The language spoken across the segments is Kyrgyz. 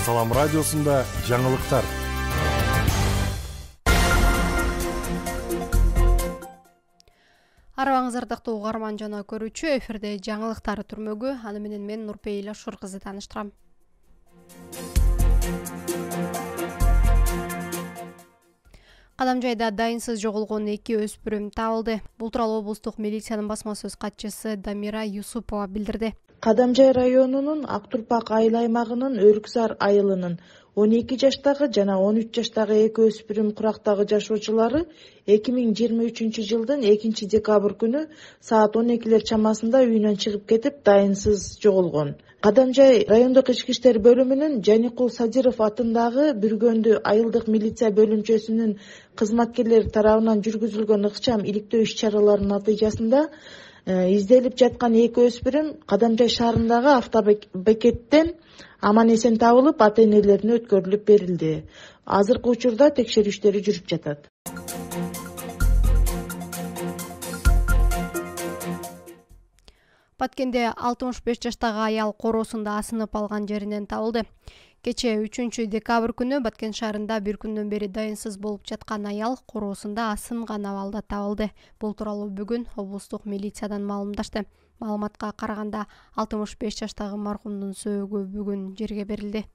Салам радиосунда жаңылыктар. Арабаңыз ардактуу угарман жана көрүүчү, эфирде жаңылыктар түрмөгү. Аны менен мен Нурпейил Ашур кызы тааныштырам. Кадамжайда дайынсыз жоголгон 2 өспүрүм табылды. Бул тууралуу облустук милициянын басма сөз катчысы Дамира Юсупова билдирди. Кадамжай районунун Актурпак айыл аймагынын Өрүксар айылынын 12 жаштагы жана 13 жаштагы 2 өспүрүм курактагы жашоочулары 2023 жылдын 2 декабрь күнү саат 12 чамасында үйүнөн чыгып кетип, дайынсыз жоголгон. Кадамжай райондук ички иштер бөлүмүнүн Жаникул Садиров атындагы Бүргөндү айылдык милиция бөлүмчөсүнүн кызматкерлери тарабынан жүргүзүлгөн ыкчам иликтөө иш-чараларынын натыйжасында изделип жаткан 2 өспүрүм Кадамжай шаарындагы автобекеттен аман-эсен табылып, ата-энелерине өткөрүлүп берилди. Азыркы учурда текшерүү иштери жүрүп жатат. Баткенде 65 жаштагы аял короосунда асынып алган жеринен табылды. Кечээ 3 декабрь күнү Баткен шаарында бир күндөн бери дайынсыз болуп жаткан аял короосунда асынган абалда табылды. Бул тууралуу бүгүн облустук милициядан маалымдашты. Маалыматка караганда 65 жаштагы маркумдун сөөгү бүгүн жерге берилди.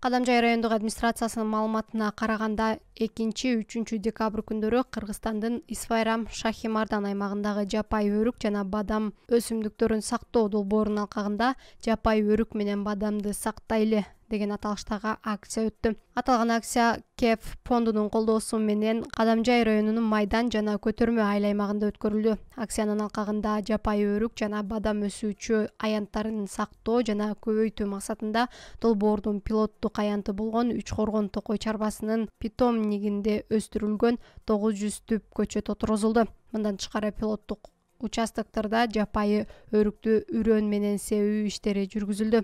Кадамжай райондук администрациясынын маалыматына караганда 2-3 декабрь күндөрү Кыргызстандын Исфайрам Шахимардан аймагындагы жапай өрүк жана бадам өсүмдүктөрүн сактоо долбоорунун алкагында жапай өрүк менен бадамды сактайлы деген аталыштагы акция өттү. Аталган акция КЕФ фондунун колдоосу менен Кадамжай районунун Майдан жана Көтөрмө айыл аймагында өткөрүлдү. Акциянын алкагында жапай өрүк жана бадам өсүүчү аянттарын сактоо жана көбөйтүү максатында долбоордун пилоттук аянты болгон Үч Коргон токой чарбасынын питомнигинде өстүрүлгөн 900 түп көчөт отургузулду. Мындан тышкары пилоттук участоктарда жапайы өрүктү үрөн менен себүү иштери жүргүзүлдү.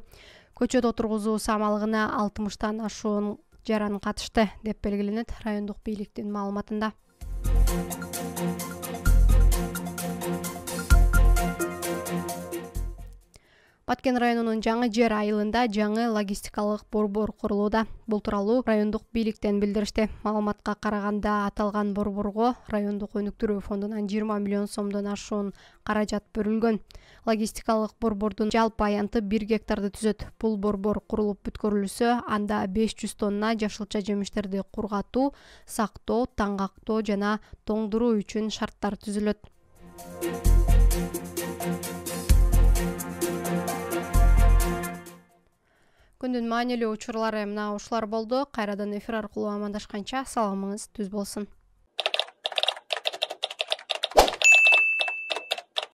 Көчөт отургузуу самалыгына 60тан ашуун жаран катышты, деп белгиленет райондук бийликтин маалыматында. Баткен районунун Жаңы Жер айылында жаңы логистикалык борбор курулууда. Бул тууралуу райондук бийликтен билдиришти. Маалыматка караганда аталган борборго райондук өнүктүрүү фондунан 20 миллион сомдон ашуун каражат бөлүнгөн. Логистикалык борбордун жалпы аянты 1 гектарды түзөт. Бул борбор курулуп бүткөрүлсө, анда 500 тонна жашылча жемиштерди кургатуу, сактоо, таңгактоо жана тоңдуруу үчүн шарттар түзүлөт. Күндүн маанилүү учурлары мына ушулар болду. Кайрадан эфир аркылуу амандашканча саламыңыз түз болсун.